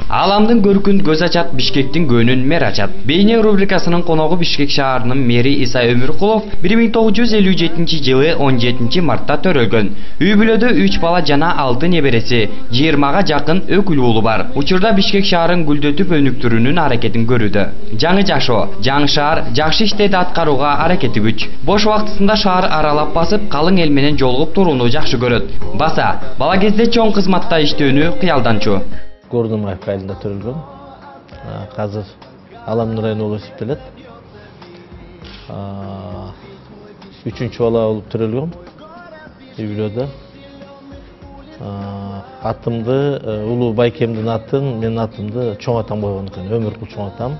Аламдын көркүн көз ачат, Бишкектин көнүн мэр ачат. Бейне рубрикасынын коногу Бишкек шаарынын мэри Иса Өмүркулов 1957 жылы 17 мартта төрөлгөн. Үй бүлөдө 3 бала жана 6 небереси, 20га жакын өкүл уулу бар. Учурда Бишкек шаарын гүлдөтүп өнүктүрүүнүн аракетин көрүүдө. Жаңы жашоо, жаңы шаар жакшы иштерди аткарууга аракети күч. Бош убактысында шаар аралап басып, калың эл менен жолугуп турууну жакшы көрөт. Баса, бала кезде чоң кызматта иштөөнү кыялданчу. Гордымаев айылында төрөлгөн. Азыр Аламдын району болуп эсептелет. 3-чү бала болуп төрөлгөм. Үй бүлөдө. Атымды Улуу Байкемдин атын, менин атымды чоң атам койгон экен. Өмүркул чоң атам.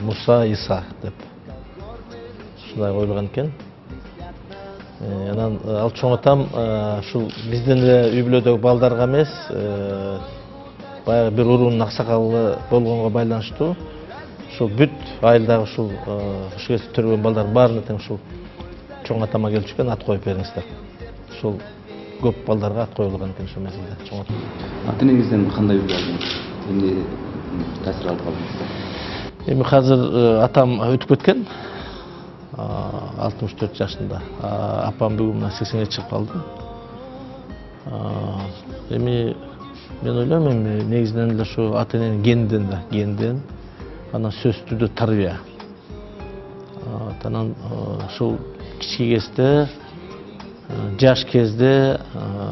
Муса Иса деп. Ушундай коюлган экен. Анан ал чоң атам ушул бизден эле үй бүлөдөгү балдарга эмес, баягы бир уруунун аксакалы болгонго байланыштуу ушул бүт айылдагы ушул кезде төрөлгөн балдар баарына тең ушул чоң атама келип түшкөн, ат коюп бериңиз деп. Ушул көп балдарга ат коюлган экен ошол мезгилде чоң атам. Ата-энеңизден кандай үлгү алдыңыз? Эмне таасир алып калдыңыз? Эми азыр атам өтүп кеткен. 64 жашында. Апам бүгүн 80-ге чыгып калды. Эми мен ойлойм, эми негизинен эле ушу ата-эненин генден, анан сөз түрдө тарбия. Анан ушул кичи кезде, жаш кезде,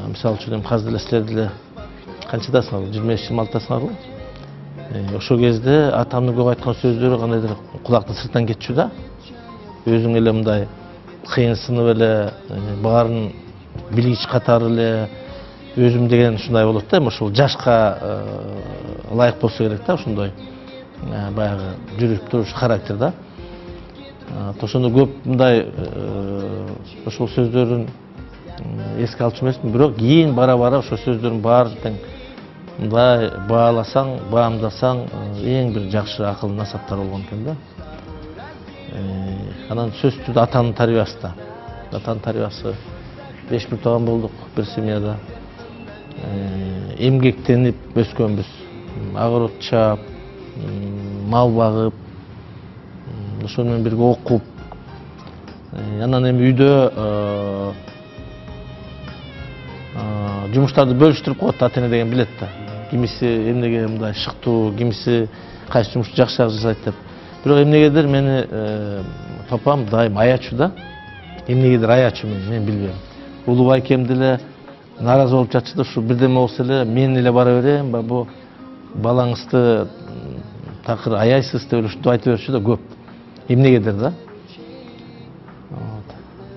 мисалы үчүн азыр эле силер деле канчадасыңар? 25-26-дасыңарбы? Ошол кезде атамдын көп айткан сөздөрү кандайдыр кулактын сыртынан кетчү да. Өзүң эле мындай кыйынсынып эле, баарын билгич катары эле өзүм деген ушундай болот да. Ошол жашка ылайык болсо керек да, ошондой баягы жүрүп туруш характер да. Ошондо көп мындай ошол сөздөрүн эске алчу эмесмин, бирок кийин бара-бара ошол сөздөрдүн баарын тең мындай бааласаң, баамдасаң, эң бир жакшы акыл насаптар болгон экен да. Анан сөз түрдө атанын тарбиясы да. Атанын тарбиясы 5 бир тууган болдук бир семьяда. Эмгектенип өскөнбүз. Огород чаап, мал багып, ошол менен бирге окуп. Анан эми үйдө жумуштарды бөлүштүрүп коет, ата-эне деген билет да. Кимиси эмнеге мындай шыктуу, кимиси кайсы жумушту жакшыраак жасайт деп. Бирок эмнегедир мени папам дайым аячу да. Эмнегедир аячу мен билбейм. Улуу Байкем деле нааразы болуп жатчу да, ушу бирдеме болсо эле мен эле бара берем, бу балаңызды такыр аяйсыз деп ушинтип айта берчү да көп. Эмнегедир да.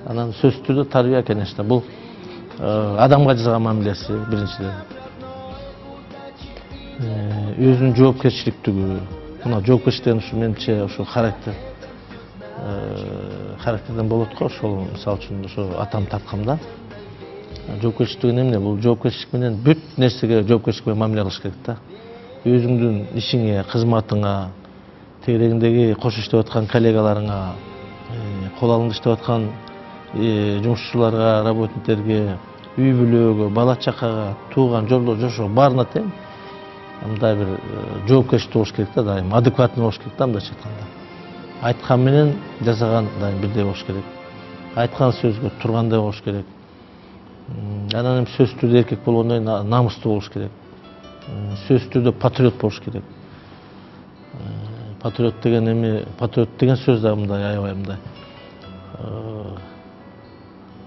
Анан сөз түрдө тарбия, конечно, бул адамга жасаган мамилеси биринчиден. Өзүнүн жоопкерчиликтүү. Мына жоопкерчилик деген ушу менимче ошол характерден болот го, ошол мисалы үчүн ошо атам тартканда. Жоопкерчилик деген эмне? Бул жоопкерчилик менен бүт нерсеге жоопкерчилик менен мамиле кылыш керек да. Өзүңдүн ишиңе, кызматыңа, тегерегиңдеги кош иштеп аткан коллегаларыңа, кол алымда иштеп аткан жумушчуларга, работниктерге, үй бүлөгө, бала чакага, тууган жорло, жошо баарына тең мындай бир жоопкерчилик болуш керек да, дайым адекватный болуш керек да, мындайча айтканда. Айткан менен жасаган дайым бирдей болуш керек. Айткан сөзгө тургандай болуш керек. Анан эми сөз түрдө эркек болгондон кийин намыстуу болуш керек. Сөз түрдө патриот болуш керек. Патриот деген эми, патриот деген сөз да мындай аябай мындай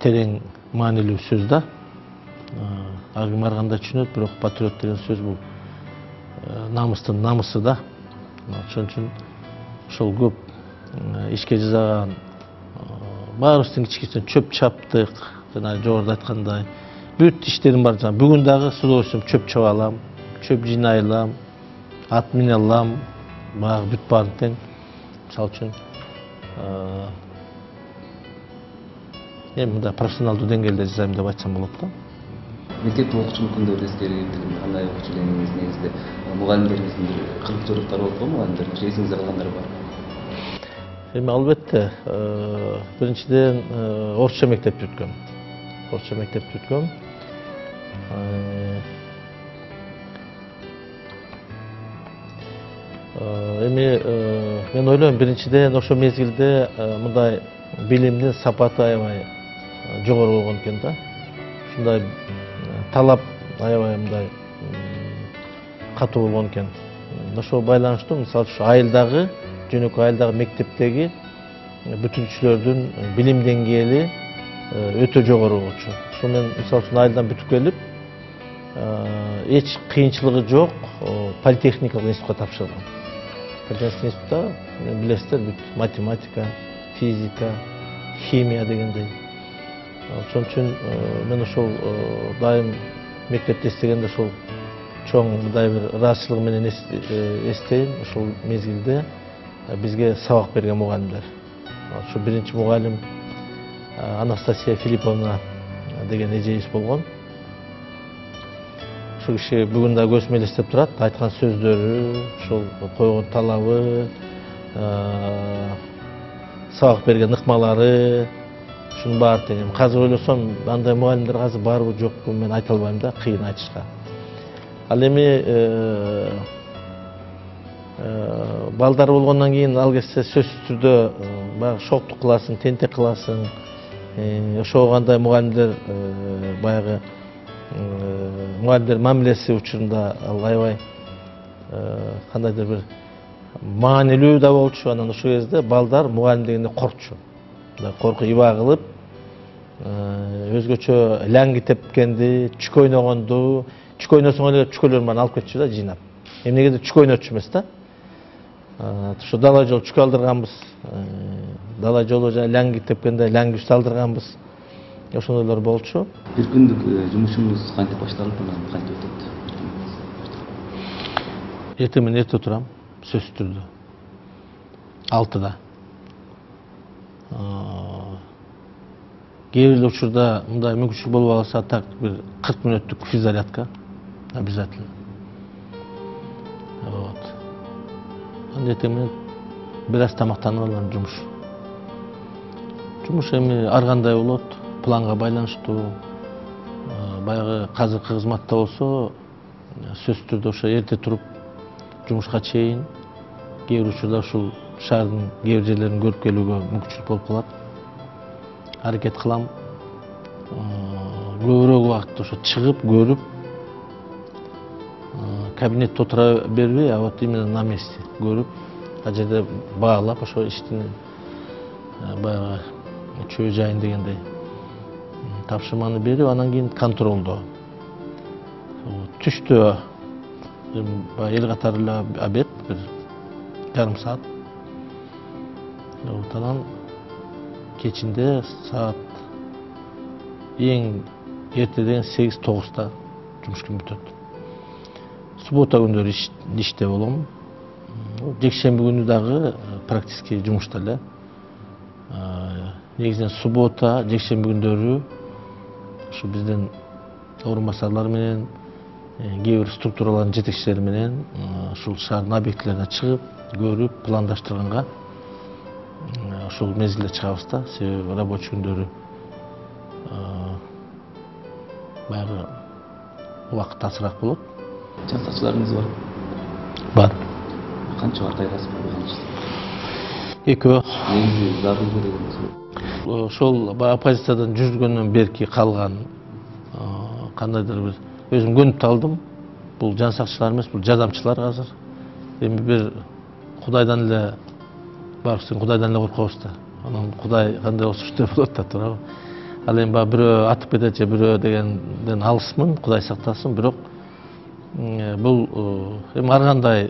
терең маанилүү сөз да. Ар ким ар кандай түшүнөт, бирок патриот деген сөз бул намыстын намысы да. Ошон үчүн ошол көп ишке жасаган, баарыбыздын кичкичтен чөп чаптык, жана жогоруда айткандай, бүт иштерим бар. Бүгүн дагы с удовольствием чөп чаба алам, чөп жыйнай алам, ат мине алам, баягы бүт баарын тең. Мисалы үчүн эми мындай профессионалдуу деңгээлде жасайм деп айтсам болот да. Мектепте окуучу күндөрү эске кандай окуучу элеңиз, негизинде мугалимдериңиздин бир кызыктууруктары болот го, мугалимдер, эсиңизде калгандары бар? Эми албетте, биринчиден орусча мектепти бүткөм. Орусча мектепти бүткөм. Эми мен ойлойм биринчиден ошол мезгилде мындай билимдин сапаты аябай жогору болгон экен да. Ушундай талап аябай мындай катуу болгон экен. Ошого байланыштуу мисалы ушу айылдагы, жөнөкөй айылдагы мектептеги бүтүнчүлөрдүн билим деңгээли өтө жогору болчу. Ошо мен мисалы үчүн айылдан бүтүп келип, эч кыйынчылыгы жок политехникалык институтка тапшырдым. Политехникалык институтта билесиздер, бүт математика, физика, химия дегендей. Ошон үчүн мен ошол дайым мектепте эстегенде ошол чоң мындай бир ыраазычылык менен эстейм. Ошол мезгилде бизге сабак берген мугалимдер. Ошо биринчи мугалим Анастасия Филипповна деген эжебиз болгон. Ошол киши бүгүн да көзүмө элестеп турат, айткан сөздөрү, ошол койгон талабы, сабак берген ыкмалары, ушунун баары тең. Азыр ойлосом, андай мугалимдер азыр барбы жокпу мен айта албайм да, кыйын айтышка. Ал эми балдар болгондон кийин ал кезде сөзсүз түрдө баягы шоктук кыласың, тентек кыласың. Ошого кандай мугалимдер баягы мугалимдер мамилеси учурунда ал аябай кандайдыр бир маанилүү да болчу. Анан ошол кезде балдар мугалим дегенде коркчу. Коркуп иба кылып, өзгөчө лаңги тепкенди, чүк ойногонду, чүк ойносоң эле чүкөлөрүн баарын алып кетчү да жыйнап. Эмнегеде чүк ойнотчу эмес да. Ошо дала жолу чүк алдырганбыз. Дала жолу жана лаңги тепкенде лаңгибизди алдырганбыз. Ошондойлор болчу. Бир күндүк жумушуңуз кантип башталып, анан кантип өтөт? Эртең менен эрте турам, сөзсүз түрдө. 6-да. Кээ бир учурда мындай мүмкүнчүлүк болуп калса, так бир 40 мүнөттүк физзарядка обязательно. Вот. Анан эртең менен бир аз тамактанып алам, жумуш. Жумуш эми ар кандай болот, планга байланыштуу. Баягы казыркы кызматта болсо, сөзсүз түрдө ошо эрте туруп жумушка чейин кээ бир учурда ушул шаардын кээ бир жерлерин көрүп келүүгө мүмкүнчүлүк болуп калат. Аракет кылам. Көбүрөөк убакыт ошо чыгып, көрүп, кабинетте отура бербей, а вот именно на месте көрүп, ал жерде баалап, ошо иштин баягы чөө жайын дегендей тапшырманы берип, анан кийин контролдо. Түштө эл катары эле обед, бир жарым саат. Анан кечинде саат эң эртеден 8-9-та жумуш күн бүтөт. Суббота күндөрү иште болом. Жекшемби күнү дагы практически жумушта эле. Негизинен суббота, жекшемби күндөрү ушу биздин орун басарлар менен, кээ бир структуралардын жетекчилери менен ушул шаардын объектилерине чыгып, көрүп, пландаштырганга ошол мезгилде чыгабыз да. Себеби рабочий күндөрү баягы убакыт азыраак болот. Жансакчыларыңыз бар? Бар. Канча бар, кайгасы бар? Экөө. Негизи зарыл дегенбиз. Ошол оппозициядан жүргөндөн берки калган кандайдыр бир өзүм көнүп алдым. Бул жансакчылар эмес, бул жардамчылар азыр. Эми бир Кудайдан эле барсың, Кудайдан эле коркобуз да. Анан Кудай кандай болсо ошондой болот да, туурабы? Ал эми баягы бирөө атып кетет же бирөө дегенден алысмын, Кудай сактасын, бирок бул эми ар кандай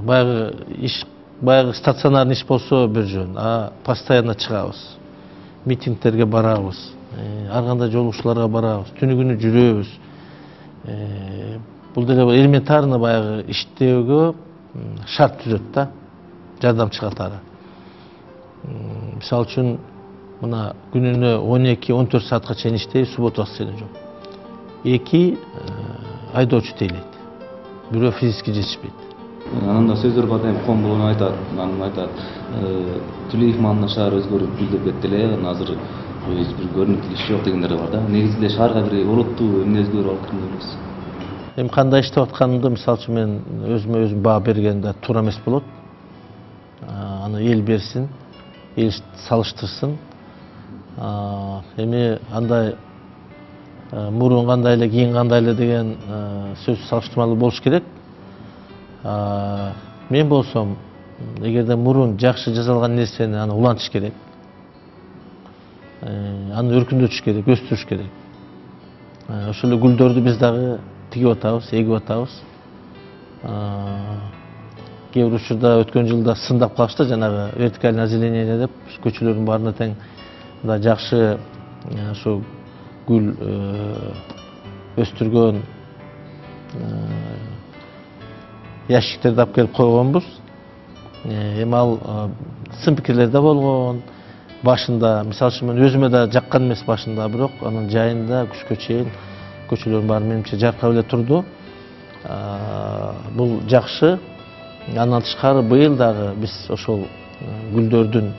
баягы иш, баягы стационарный иш болсо бир жөн, а постоянно чыгабыз. Митингтерге барабыз, ар кандай жолугушууларга барабыз, түнү күнү жүрөбүз. Бул деле элементарный баягы иштөөгө шарт түзөт да, жардамчы катары. Мисалы үчүн мына күнүнө 12-14 саатка чейин иштейбиз, субботасы эле жок. 2 айдоочу тейлейт, бирөө физически жетишпейт. Анан да сөздөр бар, эми ком болгон айтат, анан айтат, Тулеев маалына шаар өзгөрүп гүлдөп кетти эле, азыр эч бир көрүнүктүү иш жок дегендер бар да. Негизинде шаарга бир олуттуу эмне өзгөрүп алып кирген эмес. эми кандай иштеп атканымды мисалы үчүн мен өзүмө өзүм баа бергенде туура эмес болот. Аны эл берсин, эл салыштырсын. Эми андай мурун кандай эле, кийин кандай эле деген сөз салыштырмалуу болуш керек. Мен болсом, эгерде мурун жакшы жасалган нерсени аны улантыш керек. Аны өркүндөтүш керек, өстүрүш керек. Ошол эле гүлдөрдү биз дагы тигип атабыз, эгип атабыз. Кээ бир учурда өткөн жылда сындап калышты, жанагы вертикальное озеленение деп көчөлөрдүн баарына тең мындай жакшы ошо гүл өстүргөн ящиктерди алып келип койгонбуз. Эми ал сын пикирлер да болгон. Башында, мисалы үчүн мен өзүмө да жаккан эмес башында, бирок анын жайында күзгө чейин көчөлөрдүн баары менимче жаркырап эле турду. Бул жакшы. Андан тышкары быйыл дагы биз ошол гүлдөрдүн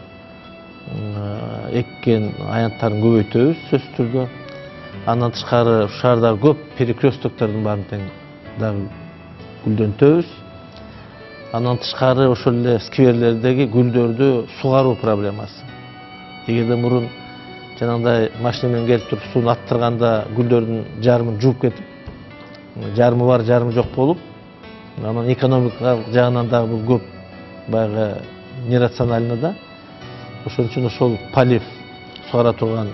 эккен аянттарын көбөйтөбүз сөзсүз түрдө. Андан тышкары ушул шаардагы көп перекрестоктордун баарын тең дагы гүлдөнтөбүз. Андан тышкары ошол эле скверлердеги гүлдөрдү сугаруу проблемасы. Эгерде мурун жанагындай машина менен келип туруп сууну аттырганда гүлдөрдүн жарымын жууп кетип, жарымы бар, жарымы жок болуп, анан экономикалык жагынан дагы бул көп баягы нерационально да. Ошон үчүн ошол полив сугара турган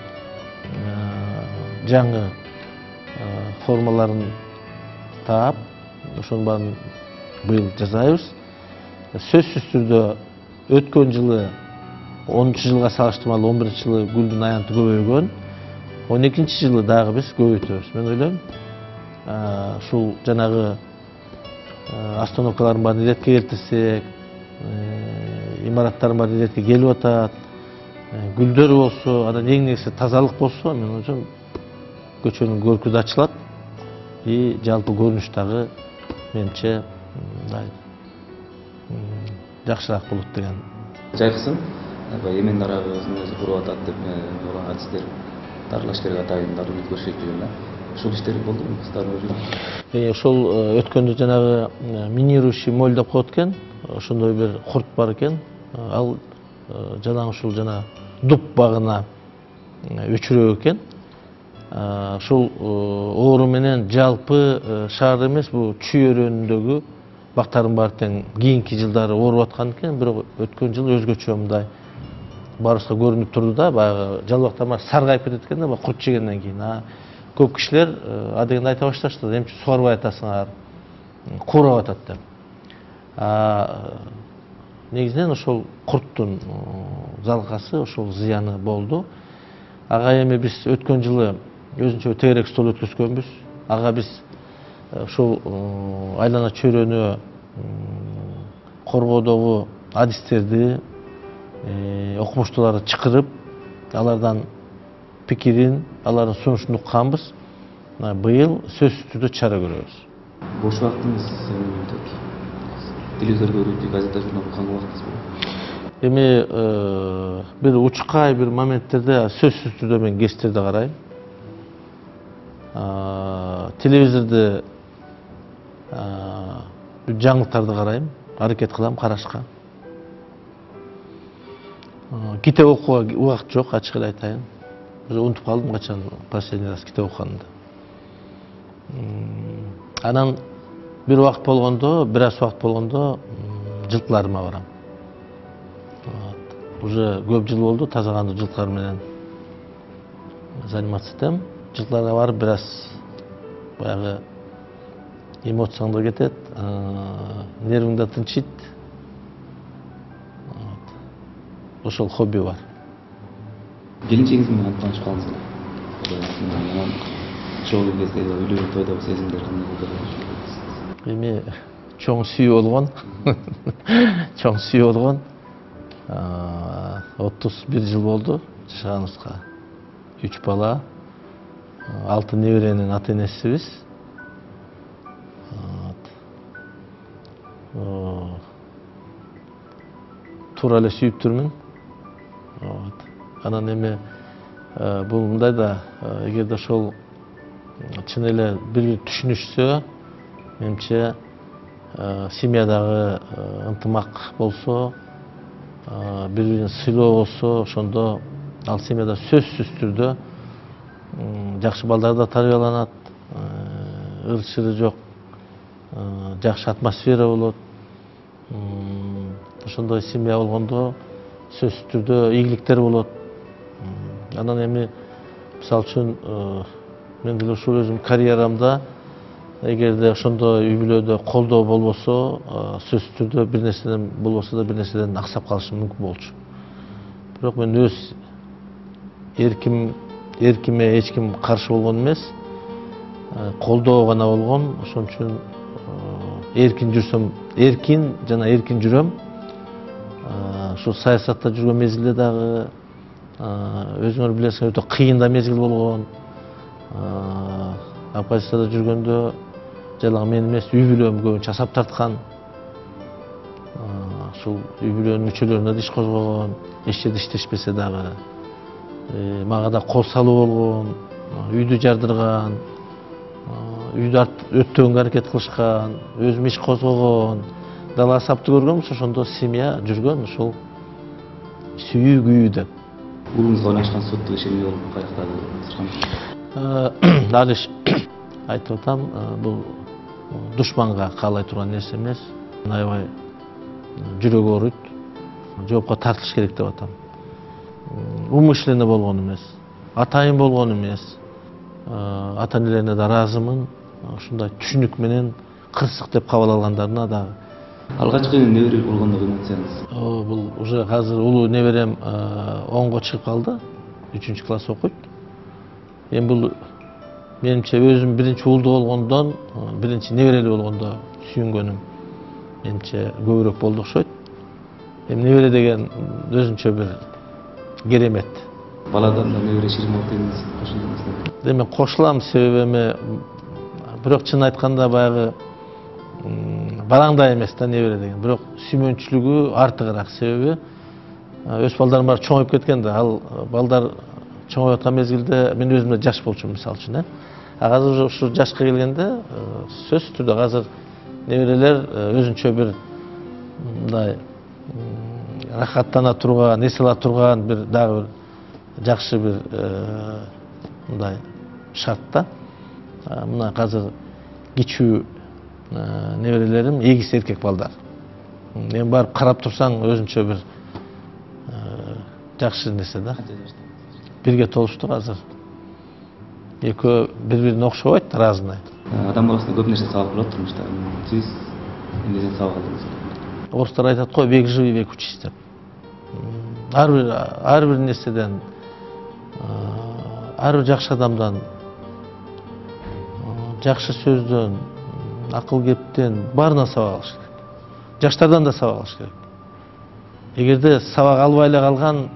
жаңы формаларын таап, ошонун баарын быйыл жасайбыз. Сөзсүз түрдө өткөн жылы 10-чы жылга салыштырмалуу 11-чи жылы гүлдүн аянты көбөйгөн. 12-чи жылы дагы биз көбөйтөбүз. Мен ойлойм, ушул жанагы остановкалардын баарын иретке келтирсек, имараттардын баары иретке келип атат, гүлдөр болсо, анан эң негизи тазалык болсо, мен ойлойм, көчөнүн көркү да ачылат, и жалпы көрүнүш дагы менимче мындай жакшыраак болот деген. Жайкысын эмен дарагыбыздын өзү куруп атат деп адистер дарылаш керек атайын дарылап өткөрүшөт деген да. Ушул иштер болдубу кыздар? Ошол өткөндө жанагы минирующий моль деп коет экен. Ошондой бир курт бар экен. Ал жанагы ушул жана дуб багына өчүрөк экен. Ушул оору менен жалпы шаар эмес, бул Чүй өрөөнүндөгү бактардын баары тең кийинки жылдары ооруп аткан экен, бирок өткөн жыл өзгөчө мындай баарыбызга көрүнүп турду да, баягы жалбактар баары саргайып кетет экен да, курт жегенден кийин. Көп кишилер адегенде айта башташты, эмче сугарбай атасыңар, куурап атат деп. Негизинен ошол курттун залкасы, ошол зыяны болду. Ага эми биз өткөн жылы өзүнчө тегерек стол өткөзгөнбүз. Ага биз ошол айлана чөйрөнү коргоодогу адистерди, окумуштууларды чакырып, алардан пикирин, алардын сунушун укканбыз. Быйыл сөзсүз түрдө чара көрөбүз. Бош убактыңыз эмне өтөт? Телевизордо көрүп, газета журнал окуган убактыңыз болобу? Эми бир учкай бир моменттерде сөзсүз түрдө мен кестерди карайм. Телевизорду жаңылыктарды карайм, аракет кылам карашка. Китеп окууга убакыт жок, ачык эле айтайын. Унутуп калдым качан последний раз китеп окуганымды. Анан бир убакыт болгондо, бир аз убакыт болгондо жылкыларыма барам. Уже көп жыл болду таза-кандуу жылкылар менен заниматься этем. Жылкыларга барып бир аз баягы эмоцияң да кетет, нервиң да тынчыйт. Ошол хобби бар. Келинчегиңиз менен таанышып калдыңызбы? Чогуу кезде үйлөнүү тойдогу сезимдер кандай болду? Эми чоң сүйүү болгон. Чоң сүйүү болгон. 31 жыл болду жашаганыбызга. 3 бала, 6 неберенин ата-энесибиз. Туура эле сүйүп турмун. Анан эми бул мындай да, эгерде ошол чын эле бири-бири түшүнүшсө, менимче семьядагы ынтымак болсо, бири-бирин сыйлоо болсо, ошондо ал семьяда сөзсүз түрдө жакшы балдар да тарбияланат, ыр-чыры жок, жакшы атмосфера болот. Ошондой семья болгондо сөзсүз түрдө ийгиликтер болот. Анан эми мисалы үчүн мен деле ушул өзүм карьерамда эгерде ошондой үй бүлөдө колдоо болбосо, сөзсүз түрдө бир нерседен болбосо да бир нерседен аксап калышым мүмкүн болчу. Бирок мен өз эркиме эч ким каршы болгон эмес, колдоо гана болгон. Ошон үчүн эркин жүрсөм, эркин жана эркин жүрөм. Ушул саясатта жүргөн мезгилде дагы өзүңөр билесиңер, өтө кыйын да мезгил болгон. Оппозицияда жүргөндө жалаң мен эмес, үй бүлөм көбүнчө асап тарткан. Ушул үй бүлөнүн мүчөлөрүнө да иш козгогон, эч жерде иштешпесе дагы. Мага да кол салуу болгон, үйдү жардырган, үйдү өттөгөнгө аракет кылышкан, өзүм иш козгогон, дала асапты көргөм, ошондо семья жүргөн, ушул сүйүү күйүү деп. Уулуңузга байланышкан соттук иш эмне болуп каяктады? Дали айтып атам, бул душманга каалай турган нерсе эмес. Аябай жүрөгү ооруйт, жоопко тартылыш керек деп атам. Умышленно болгон эмес, атайын болгон эмес. Ата-энелерине да ыраазымын. Ушундай түшүнүк менен кырсык деп кабыл алгандарына да. Алгачкы небере болгондо эмоцияңыз? Бул уже азыр улуу неберем 10го чыгып калды, 3-класс окуйт. Эми бул менимче өзүм биринчи уулду болгондон, биринчи неберели болгондо сүйүнгөнүм менимче көбүрөөк болду окшойт. Эми небере деген өзүнчө бир керемет. Баладан да небере ширин болот дегенсиз, кошулдуңуз. Эми кошулам, себеби эми бирок чын айтканда баягы бараңдай эмес да небере деген. Бирок сүймөнчүлүгү артыгыраак, себеби өз балдарым бар чоңоюп кеткен да. Ал балдар чоңоюп аткан мезгилде мен өзүм да жаш болчумун, мисалы үчүн. Азыр ушу жашка келгенде сөзсүз түрдө азыр неберелер өзүнчө бир мындай рахаттана турган, эс ала турган бир дагы бир жакшы бир мындай шартта. Мына азыр кичүү неберелерим эгиз эркек балдар. Эми барып карап турсаң өзүнчө бир жакшы нерсе да. Бирге толуштук азыр. Экөө бири-бирине окшобойт, разный. Адам баласына көп нерсе сабак болот турмушта. Сиз эмнеден сабак алдыңыз? Орустар айтат го, век живи, век учись деп. Ар бир нерседен, ар бир жакшы адамдан, жакшы сөздөн, акыл кептен баарынан сабак алыш керек. Жаштардан да сабак алыш керек. Эгерде сабак албай эле калган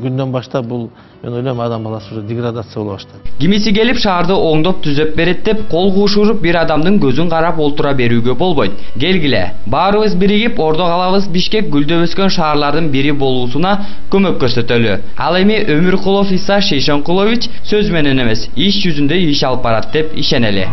күндөн баштап бул мен ойлойм адам баласы уже деградация боло баштайт. Кимиси келип шаарды оңдоп түзөп берет деп кол куушуруп бир адамдын көзүн карап олтура берүүгө болбойт. Келгиле, баарыбыз биригип Ордо калабыз Бишкек гүлдөп өскөн шаарлардын бири болуусуна көмөк көрсөтөлү. Ал эми Өмүркулов Иса Шейшенкулович сөз менен эмес, иш жүзүндө иш алып барат деп ишенели.